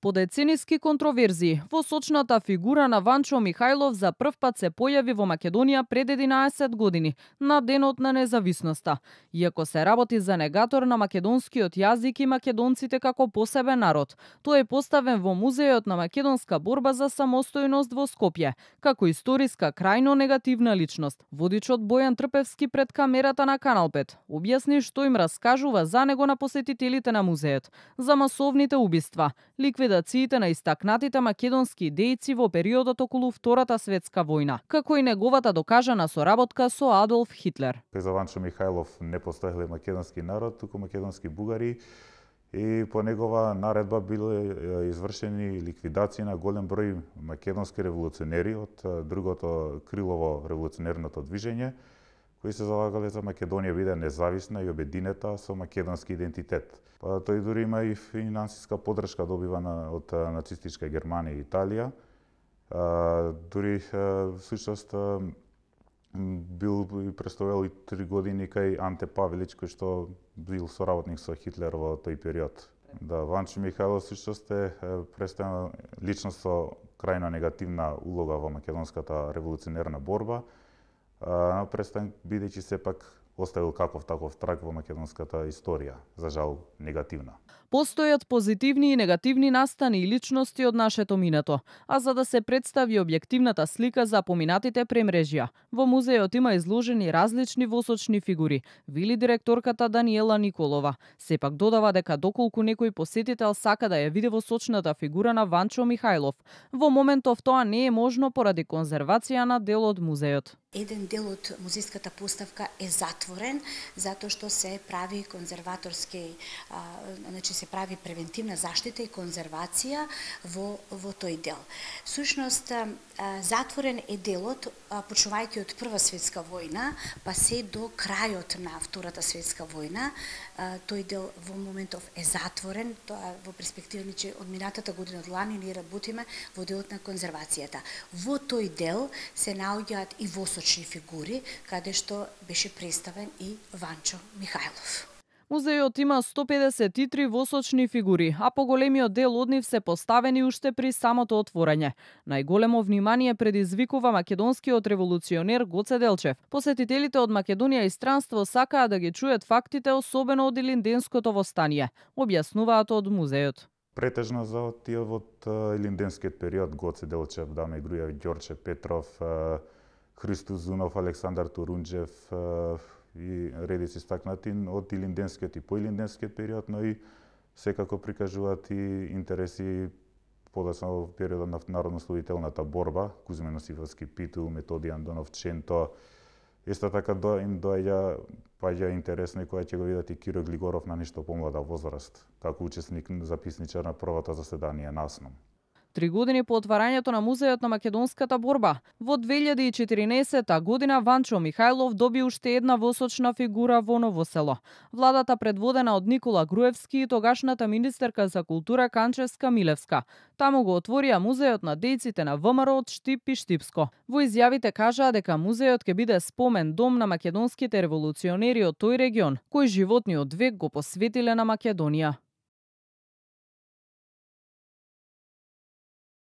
По децениски контроверзии, восочната фигура на Ванчо Михајлов за прв пат се појави во Македонија пред 11 години, на денот на независноста. Иако се работи за негатор на македонскиот јазик и македонците како посебен народ, тој е поставен во Музејот на македонска борба за самостојност во Скопје, како историска крајно негативна личност. Водичот Бојан Трпевски пред камерата на Канал 5 објасни што им раскажува за него на посетителите на музејот, за масовните убиства, ликвидациите на истакнатите македонски дејци во периодот околу Втората светска војна, како и неговата докажана соработка со Адолф Хитлер. За Ванчо Михајлов не постоеле македонски народ, туку македонски бугари, и по негова наредба биле извршени ликвидации на голем број македонски револуционери од другото крило во револуционерното движење, кои се залагале за Македонија биде независна и обединета со македонски идентитет. Тој дури има и финансиска поддршка добивана од нацистичка Германија и Италија. Дури всушност бил и представувал и 3 години кај Анте Павелич, кој што бил соработник со Хитлер во тој период. Да, Ванчо Михајлов всушност е представена личност со крајно негативна улога во македонската револуционерна борба, представен бидејќи сепак оставил каков таков траг во македонската историја, за жал негативна. Постојат позитивни и негативни настани и личности од нашето минато, а за да се представи објективната слика за поминатите премрежја, во музејот има изложени различни восочни фигури, вели директорката Даниела Николова. Сепак додава дека доколку некој посетител сака да ја види восочната фигура на Ванчо Михајлов, во моментов тоа не е можно поради конзервација на дел од музејот. Еден дел од музејската поставка е затворен, затоа што се прави конзерваторски, значи се прави превентивна заштита и конзервација во тој дел. Сушност, затворен е делот, почнувајќи од Прва светска војна, па се до крајот на Втората светска војна. Тој дел во моментов е затворен, тоа во перспектива, че од минатата година од лани ние работиме во делот на конзервацијата. Во тој дел се наоѓаат и восочни фигури, каде што беше представен и Ванчо Михајлов. Музејот има 153 восочни фигури, а поголемиот дел од нив се поставени уште при самото отворање. Најголемо внимание предизвикува македонскиот револуционер Гоце Делчев. Посетителите од Македонија и странство сакаат да ги чујат фактите, особено од Илинденското востание, објаснуваат од музејот. Претежно за тие од Илинденскиот период Гоце Делчев, Даме Грујев, Ѓорче Петров, Христо Зунов, Александар Турунџев и редици стакнати од Илинденскиот и поилинденскиот период, но и секако прикажуваат и интереси подоцна во периодот на народнословителната борба, Кузме Носифовски Питу, Методи Андонов Ченто. Исто така им доаѓа интересно и кога ќе го видат и Киро Глигоров на нешто помлада возраст, како учесник записничар на првото заседание на АСНОМ. 3 години по отварањето на Музејот на македонската борба, во 2014 година Ванчо Михајлов доби уште една восочна фигура во Ново село. Владата предводена од Никола Груевски и тогашната министерка за култура Канчевска Милевска. Таму го отворија музејот на дејците на ВМРО од Штип и Штипско. Во изјавите кажаа дека музејот ќе биде спомен дом на македонските револуционери од тој регион, кои животниот век го посветиле на Македонија.